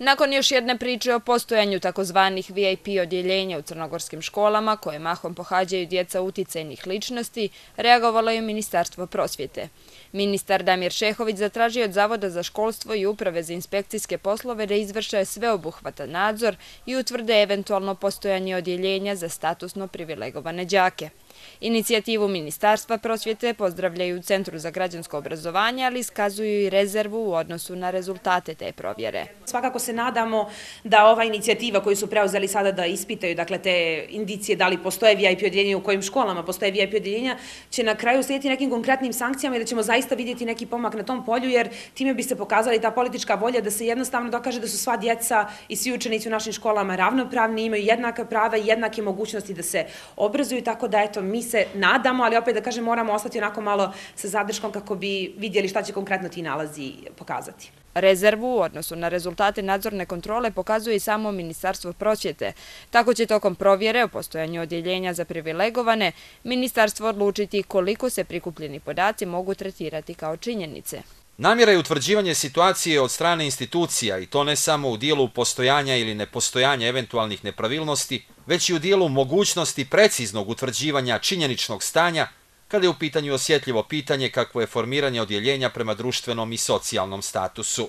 Nakon još jedne priče o postojanju takozvanih VIP odjeljenja u crnogorskim školama, koje mahom pohađaju djeca uticajnih ličnosti, reagovalo je Ministarstvo prosvjete. Ministar Damir Šehović zatražio od Zavoda za školstvo i Uprave za inspekcijske poslove da izvrše sveobuhvatan nadzor i utvrde eventualno postojanje odjeljenja za statusno privilegovane đake. Inicijativu Ministarstva prosvjete pozdravljaju u Centru za građansko obrazovanje, ali iskazuju i rezervu u odnosu na rezultate te provjere. Svakako se nadamo da ova inicijativa koju su preuzeli sada da ispitaju, dakle, te indicije da li postoje VIP odjeljenja, u kojim školama postoje VIP odjeljenja, će na kraju slijediti nekim konkretnim sankcijama i da ćemo zaista vidjeti neki pomak na tom polju, jer time bi se pokazali ta politička volja da se jednostavno dokaže da su sva djeca i svi učenici u našim školama ravnopravni, imaju jednaka prava i jednake mogućnosti da se obrazuju, tako da eto, mi se nadamo, ali opet da kažem moramo ostati onako malo sa zadrškom kako bi vidjeli šta će konkretno ti nalazi pokazati. Rezervu u odnosu na rezultate nadzorne kontrole pokazuje i samo Ministarstvo prosvjete. Tako će tokom provjere o postojanju odjeljenja za privilegovane ministarstvo odlučiti koliko se prikupljeni podaci mogu tretirati kao činjenice. Namjera je utvrđivanje situacije od strane institucija i to ne samo u dijelu postojanja ili nepostojanja eventualnih nepravilnosti, već i u dijelu mogućnosti preciznog utvrđivanja činjeničnog stanja kada je u pitanju osjetljivo pitanje kakvo je formiranje odjeljenja prema društvenom i socijalnom statusu.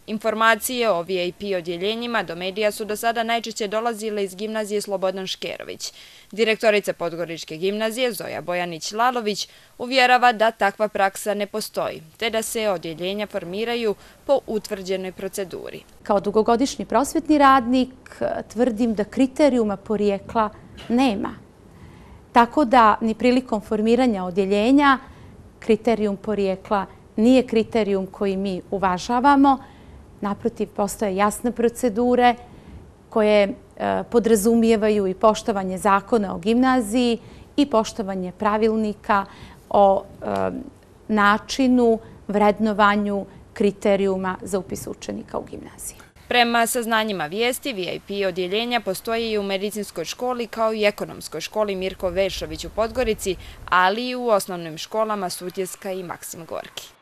Informacije o VIP odjeljenjima do medija su do sada najčešće dolazile iz gimnazije Slobodan Škerović. Direktorica Podgoričke gimnazije Zoja Bojanić-Lalović uvjerava da takva praksa ne postoji, te da se odjeljenja formiraju po utvrđenoj proceduri. Kao dugogodišnji prosvjetni radnik tvrdim da kriterijuma porijekla nema. Tako da ni prilikom formiranja odjeljenja kriterijum porijekla nije kriterijum koji mi uvažavamo. Naprotiv, postoje jasne procedure koje podrazumijevaju i poštovanje zakona o gimnaziji i poštovanje pravilnika o načinu, vrednovanju kriterijuma za upis učenika u gimnaziji. Prema saznanjima vijesti, VIP odjeljenja postoje i u medicinskoj školi kao i ekonomskoj školi Mirko Vešović u Podgorici, ali i u osnovnim školama Sutjeska i Maksim Gorki.